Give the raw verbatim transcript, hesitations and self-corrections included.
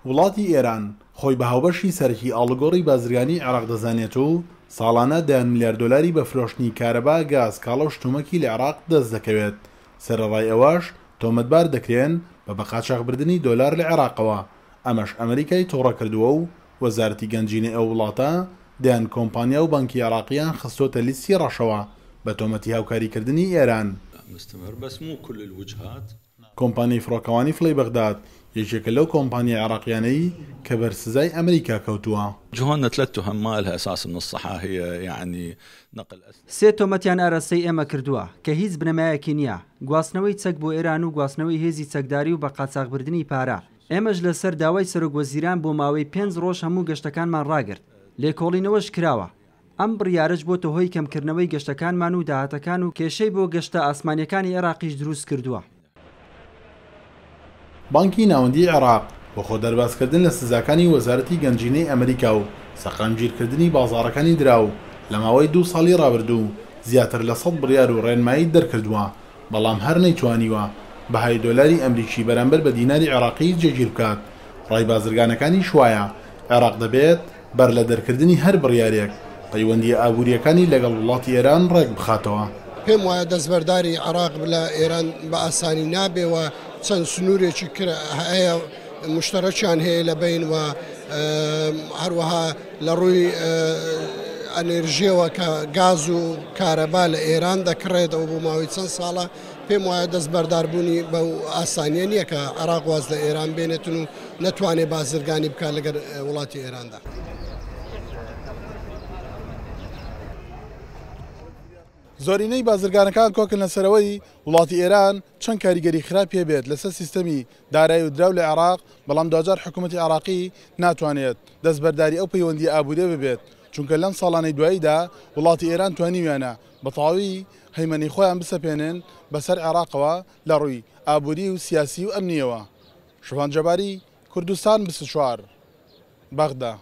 وڵاتی ئێران خۆی بە هاوبەشی سەرەکی ئاڵوگۆڕی بازرگانی عێراق دەزانێت و ساڵانە دەیان ملیار دۆلاری بە فرۆشتنی کارەبا، گاز، کاڵا و شتومەکی لە عێراق دەست دەکەوێت. سەرەڕای ئەوەش تۆمەتبار دەکرێن بە بەقاچاخبردنی دۆلار لە عێراقەوە. ئەمەش ئەمریکای تووڕە کردووە و وەزارەتی گەنجینەی ئەو وڵاتە دەیان کۆمپانیا و بانکی عێراقیان خستۆتە لیستی ڕەشەوە بە تۆمەتی هاوکاریکردنی ئێران. کۆمپانیای فڕۆکەوانی فڵی بەغداد یەکێکە لەو کۆمپانیا عێراقیانەی کە بەر سزای ئەمریکا کەوتووە. سێ تۆمەتیان ئاراستەی ئێمە کردووە کە هیچ بنەمایەکی نییە، گواستنەوەی چەک بۆ ئێران و گواستنەوەی هێزی چەکداری و بە قاچاخبردنی پارە. ئێمەش لەسەر داوای سەرۆک وەزیران بۆ ماوەی پێنج ڕۆژ هەموو گەشتەکانمان ڕاگرت، لێکۆڵینەوەش کراوە. ئەم بڕیارەش بۆتە هۆی کەمکردنەوەی گەشتەکانمان و داهاتەکان و کێشەی بۆ گەشتە ئاسمانیەکانی عێراقیش دروست کردووە. بانکی ناوەندی عێراق بۆ خۆ دەربازکردن لە سزاکانی وەزارەتی گەنجینەی ئەمریکا و سەقامگیرکردنی بازاڕەکانی دراو لە ماوەی دوو ساڵی ڕابردوو زیاتر لە سەد بڕیار و ڕێنمایی دەرکردووە، بەڵام هەر نەیتوانیوە بەهای دۆلاری ئەمریکی بەرامبەر بە دیناری عێراقی جێگیر بکات. ڕای بازرگانەکانیش وایە عێراق دەبێت بەر لە دەرکردنی هەر بڕیارێک پەیوەندیە ئابووریەکانی لەگەڵ وڵاتی ئێران ڕێک بخاتەوە. پێم وایە دەستبەرداری عێراق لە ئێران بە ئاسانی نابێ و چەند سنوورێکی هەیە مشتەرەکیان هەیە لە بین و هەروەها لە ڕووی ئەنێرژیەوە کە گاز و کارەبا لە ئێران دەکڕێتەوە بۆ ماوەی چەند ساڵە. پێم وایە دەستبەرداربوونی بەو ئاسانیە نییە کە عێراق واز لە ئێران بێنێتن و نەتوانێت بازرگانی بکات لەگەر وڵاتی ئێراندا. زۆرینەی بازرگانەکان کۆکن لەسەرەوەی وڵاتی ئێران چەند کاریگەری خراپی بێت لەسەر سیستەمی دارایی و دراو لە عێراق، بەڵام دواجار حکوومەتی عێراقی ناتوانێت دەستبەرداری ئەو پەیوەندی ئابووریە ببێت، چونکە لەم ساڵانەی دواییدا وڵاتی ئێران توانیویانە بە تەواوی هەیمەنەی خۆیان بسەپێنن بەسەر عێراقەوە لە ڕووی ئابووری و سیاسی و ئەمنیەوە. شوان جەباری، کوردستان بیست و چوار، بەغدا.